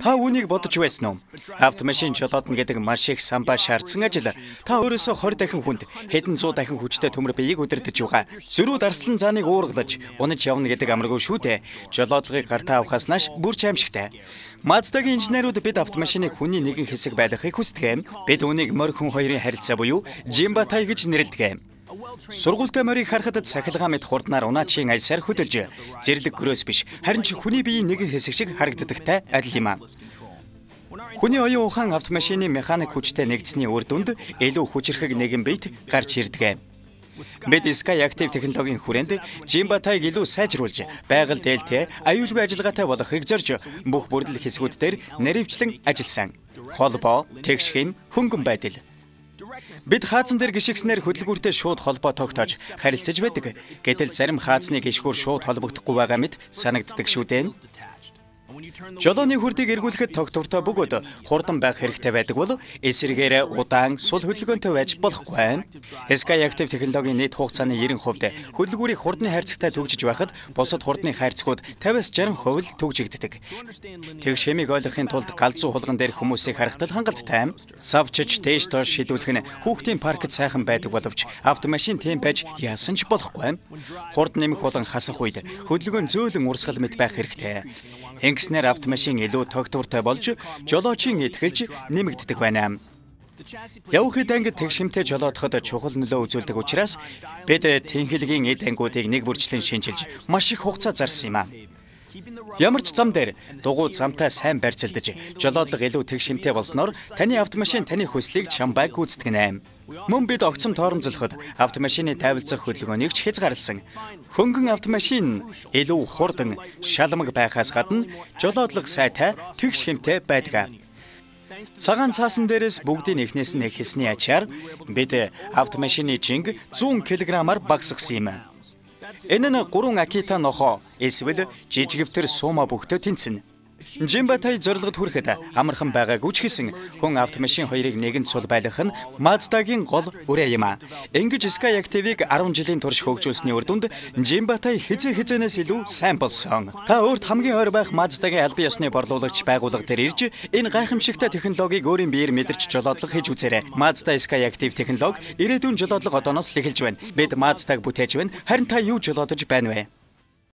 Та үүнийг бодож байсан уу? Автомашин жолоодно гэдэг маш их самбаа шаардсан ажил. Та өөрөөсөө 20 дахин хүнд, хэдэн 100 дахин хүчтэй төмөр биеийг удирдах байгаа. Зөрүү дарслан зааныг уургалж, унаж явна гэдэг амаргүй шүү дээ. Жолоодлогыг гартаа авахаас нааш бүр ч аимшигтай. Маздагийн инженерүүд бид автомашиныг хүний нэгэн хэсэг байлгахыг хүсдэг. Бид үүнийг морь хүн хоёрын харилцаа буюу Жимбатай гэж нэрлэдэг. Сургуультай морийг харахад сахилгаан мэт хурднаар унаачийн альсаар хөдөлж, зэрлэг гөрөөс биш, харин ч хүний биеийн нэгэн хэсэг шиг харагддагтай адил юм. Хүний оюун ухаан автомашины механик хүчтэй нэгдсэний үр дүнд илүү хүчирхэг нэгэн биет гарч ирдэг. Бид Sky Active технологийн хүрээнд Жимбатайг илүү сайжруулж, байгаль дээлтэй, аюулгүй ажиллагаатай болгохыг зорж, бүх бүрдэл хэсгүүд дээр наривчлан ажилласан. Холбоо, тэгш хэм, хөнгөн байдал. Бид хаазан дээр гიშгснээр хөдөлгүүртэй шууд холбоо тогтоож харилцаж байдаг. Гэтэл зарим хаазны гიშгүүр шууд холбогдохгүй байгаа мэт санагддаг шүү дээ. Жолооны хүрдийг эргүүлэхэд тогтвортой бөгөөд хурдан байх хэрэгтэй байдаг бол эсэргээр удаан сул хөдөлгөөнтэй байж болохгүй. Sky Active технологийн нийт хугацааны 90% хөдөлгүүрийг хурдны хайрцагтай төгжиж байхад бусад хурдны хайрцагууд 50-60% төгжигддэг. Тэгш хэмийг ойлгохын тулд галзуу хулган дээр хүмүүсийг харахад хангалттай. Савчж дээш доош шидүүлэх нь хүүхдийн паркт сайхан байдаг боловч автомашин тийм байж яасан ч болохгүй. Хурд нэмэх болон хасах үед хөдөлгөөн зөөлөн урсгал мэт байх хэрэгтэй. Ингэснээр автомашин илүү тогтвортой болж жолоочийн итгэлж нэмэгддэг байна. Явхад ангид тэгшимтэй жолоодоход чухал нөлөө үзүүлдэг учраас бид тэнхилгийн эд ангиудыг нэг бүрчлэн шинжилж маш их хугацаа зарсан юм. Ямар ч зам дээр дугуй замтай сайн барьцалдаж жолоодлого илүү тэгшимтэй болсноор таны автомашин таны хүслийг чамбайг гүйцэтгэх нэ. Мөн бид огцом тооромжлоход автомашины тайвалцах хөдөлгөөнийг ч хязгаарласан. Хөнгөн автомашин илүү хурдан, шалмаг байхаас гадна жолоодлого сайтай, тэгш хэмтэй байдаг. Цагаан цаасан дээрээс бүгдийн эхнээс нь хэлсний ачаар бид автомашины жинг 100 кг-аар багасгасан юм. Энэ нь 3 Акита нохоо эсвэл жижигвтер суума бөхтө тэнцэнэ. Жимбатай зорилгод хүрэхэд амархан байгаагүй ч гэсэн хүн автомашин хоёрыг нэгэн цул байлгах нь Маздагийн гол үрээ юм. Ингэж Sky Active-ийг 10 жилийн турш хөгжүүлсэний үр дүнд Жимбатай хизээнээс илүү сайн болсон. Та өөрт хамгийн ойр байх Маздагийн албан ёсны борлуулагч байгууллага дээр ирж энэ гайхамшигтай технологиг өөрийн биеэр мэдэрч жолоодлого хийж үзээрэй. Mazda Sky Active технологи ирээдүйн жолоодлого одооноос л эхэлж байна. Бид Mazdag бүтээж байна. Харин та юу жолоодож байна вэ?